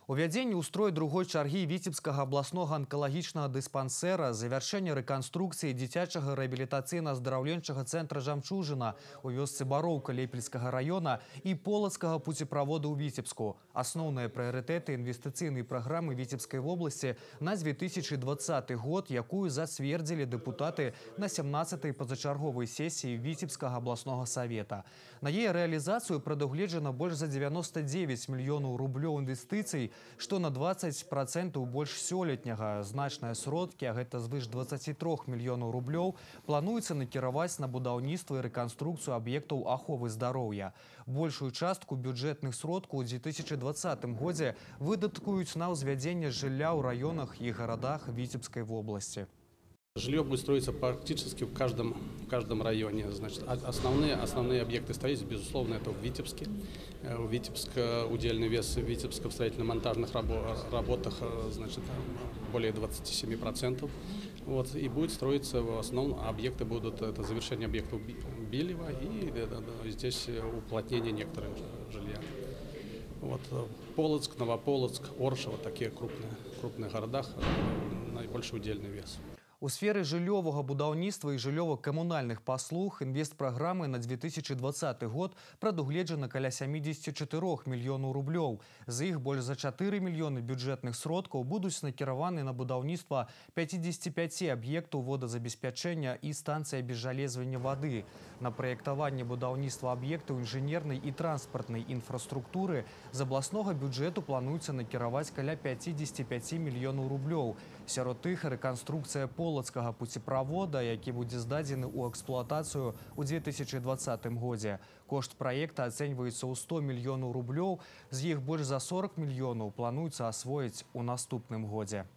Увядзенне ў строй другой чаргі Віцебскага абласнога анкалагічнага дыспансэра, завяршэнне рэканструкцыі дзіцячага рэабілітацыйна-аздараўленчага цэнтра «Жамчужына» у вёсцы Бароўка Лепельскага района і полацкага пуцеправода ў Віцебску. Асноўныя прыярытэты інвестыцыйнай праграмы Віцебскай вобласці на 2020 год, якую зацвердзілі дэпутаты на 17-й пазачарговай сесіі Віцебскага абласнога савета. На яе рэалізацыю прадугледжана больш за 99 мільёнаў рублёў інвестыцый, што на 20% больш сёлетняга. Значныя сродкі, а гэта звыш 23 мільёнаў рублёў, плануецца накіраваць на будаўніцтва і рэканструкцыю аб'ектаў аховы здароўя. Большую частку бюджэтных сродкаў у 2020 годзе выдаткуюць на ўзвядзенне жылля ў раёнах і гарадах Віцебскай вобласці. Жилье будет строиться практически в каждом районе. Значит, основные объекты строительства, безусловно, это в Витебске. В Витебске удельный вес в Витебске в строительно-монтажных работах, значит, более 27%. Вот, и будет строиться в основном объекты будут это завершение объектов Билева и здесь уплотнение некоторых жилья. Вот, Полоцк, Новополоцк, Оршево, такие крупные городах, наибольший удельный вес. У сферы жыллёвага будаўніцтва і жыллёва-камунальных паслуг інвестпраграмы на 2020 год прадугледжана каля 74 мільёнаў рублёў. З іх больш за 4 мільёны бюджэтных сродкаў будуць накіраваны на будаўніцтва 55 аб'ектаў водазабеспячэння і станцыі абезжалезвання вады, на праектаванне будаўніцтва аб'ектаў інжынернай і транспартнай інфраструктуры з абласнога бюджэту плануецца накіраваць каля 55 мільёнаў рублёў. Сярод іх рэканструкцыя полацкага пуцеправода, які будзе здадзены ў эксплуатацыю ў 2020 годзе. Кошт праекта ацэньваецца ў 100 мільёнаў рублёў, з іх больш за 40 мільёнаў плануецца асвоіць у наступным годзе.